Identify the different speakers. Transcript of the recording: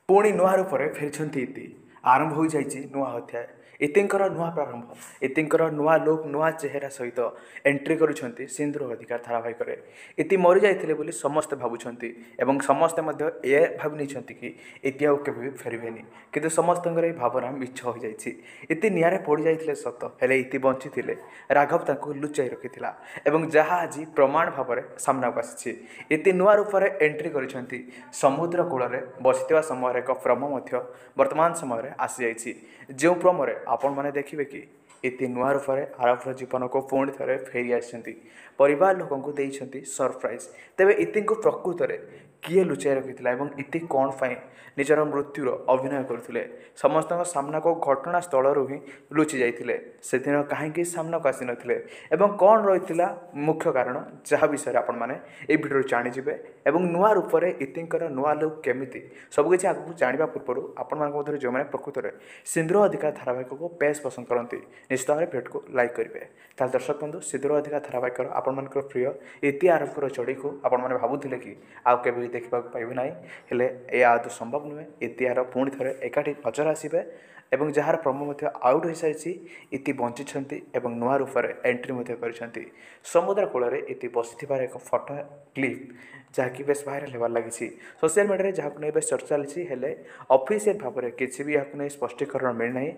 Speaker 1: ପୁଣି ନୂଆ ରୂପରେ ଫେରିଛନ୍ତି ଇତି। ଆରମ୍ଭ ହୋଇଯାଇଛି ନୂଆ ଅଧ୍ୟାୟ, ଇତିଙ୍କର ନୂଆ ପ୍ରାରମ୍ଭ, ଇତିଙ୍କର ନୂଆ ଲୁକ୍, ନୂଆ ଚେହେରା ସହିତ ଏଣ୍ଟ୍ରି କରୁଛନ୍ତି ସିନ୍ଦୁର ଅଧିକାର ଧାରାବାହିକରେ। ଇତି ମରିଯାଇଥିଲେ ବୋଲି ସମସ୍ତେ ଭାବୁଛନ୍ତି ଏବଂ ସମସ୍ତେ ମଧ୍ୟ ଏ ଭାବି ନେଇଛନ୍ତି କି ଇତି ଆଉ କେବେ ବି ଫେରିବେନି, କିନ୍ତୁ ସମସ୍ତଙ୍କର ଏହି ଭାବନା ମିଛ ହୋଇଯାଇଛି। ଇତି ନିଆଁରେ ପୋଡ଼ିଯାଇଥିଲେ ସତ, ହେଲେ ଇତି ବଞ୍ଚିଥିଲେ। ରାଘବ ତାଙ୍କୁ ଲୁଚାଇ ରଖିଥିଲା ଏବଂ ଯାହା ଆଜି ପ୍ରମାଣ ଭାବରେ ସାମ୍ନାକୁ ଆସିଛି। ଇତି ନୂଆ ରୂପରେ ଏଣ୍ଟ୍ରି କରିଛନ୍ତି। ସମୁଦ୍ର କୂଳରେ ବସିଥିବା ସମୟରେ ଏକ ପ୍ରମ ମଧ୍ୟ ବର୍ତ୍ତମାନ ସମୟରେ ଆସିଯାଇଛି, ଯେଉଁ ପ୍ରମରେ ଆପଣମାନେ ଦେଖିବେ କି ଇତି ନୂଆ ରୂପରେ ଆରବର ଜୀବନକୁ ପୁଣି ଥରେ ଫେରି ଆସିଛନ୍ତି, ପରିବାର ଲୋକଙ୍କୁ ଦେଇଛନ୍ତି ସରପ୍ରାଇଜ୍। ତେବେ ଇତିଙ୍କୁ ପ୍ରକୃତରେ କିଏ ଲୁଚାଇ ରଖିଥିଲା ଏବଂ ଇତି କ'ଣ ପାଇଁ ନିଜର ମୃତ୍ୟୁର ଅଭିନୟ କରୁଥିଲେ? ସମସ୍ତଙ୍କ ସାମ୍ନାକୁ ଘଟଣାସ୍ଥଳରୁ ହିଁ ଲୁଚି ଯାଇଥିଲେ, ସେଦିନ କାହିଁକି ସାମ୍ନାକୁ ଆସିନଥିଲେ ଏବଂ କ'ଣ ରହିଥିଲା ମୁଖ୍ୟ କାରଣ, ଯାହା ବିଷୟରେ ଆପଣମାନେ ଏହି ଭିଡ଼ିଓରୁ ଜାଣିଯିବେ। ଏବଂ ନୂଆ ରୂପରେ ଇତିଙ୍କର ନୂଆ ଲୁକ୍ କେମିତି, ସବୁକିଛି ଆଗକୁ ଜାଣିବା ପୂର୍ବରୁ ଆପଣମାନଙ୍କ ମଧ୍ୟରେ ଯେଉଁମାନେ ପ୍ରକୃତରେ ସିନ୍ଦୁର ଅଧିକାର ଧାରାବାହିକକୁ ବେଶ ପସନ୍ଦ କରନ୍ତି, ନିଶ୍ଚିତ ଭାବରେ ଭିଡ଼ିଓକୁ ଲାଇକ୍ କରିବେ। ତାହେଲେ ଦର୍ଶକ ବନ୍ଧୁ, ସିନ୍ଦୁର ଅଧିକାର ଧାରାବାହିକର ଆପଣମାନଙ୍କର ପ୍ରିୟ ଇତି ଆରବଙ୍କର ଯୋଡ଼ିକୁ ଆପଣମାନେ ଭାବୁଥିଲେ କି ଆଉ କେବେ ବି ଦେଖିବାକୁ ପାଇବେ ନାହିଁ, ହେଲେ ଏହା ଆଦୌ ସମ୍ଭବ ନୁହେଁ। ଇତି ଆରବ ପୁଣି ଥରେ ଏକାଠି ନଜର ଆସିବେ ଏବଂ ଯାହାର ପ୍ରମୋ ମଧ୍ୟ ଆଉଟ୍ ହୋଇସାରିଛି। ଇତି ବଞ୍ଚିଛନ୍ତି ଏବଂ ନୂଆ ରୂପରେ ଏଣ୍ଟ୍ରି ମଧ୍ୟ କରିଛନ୍ତି। ସମୁଦ୍ର କୂଳରେ ଇତି ବସିଥିବାର ଏକ ଫଟୋ କ୍ଲିପ୍ ଯାହାକି ବେଶ ଭାଇରାଲ୍ ହେବାରେ ଲାଗିଛି ସୋସିଆଲ ମିଡ଼ିଆରେ, ଯାହାକୁ ନେଇ ବେଶ ଚର୍ଚ୍ଚା ଚାଲିଛି। ହେଲେ ଅଫିସିଆଲ ଭାବରେ କିଛି ବି ଏହାକୁ ନେଇ ସ୍ପଷ୍ଟୀକରଣ ମିଳିନାହିଁ।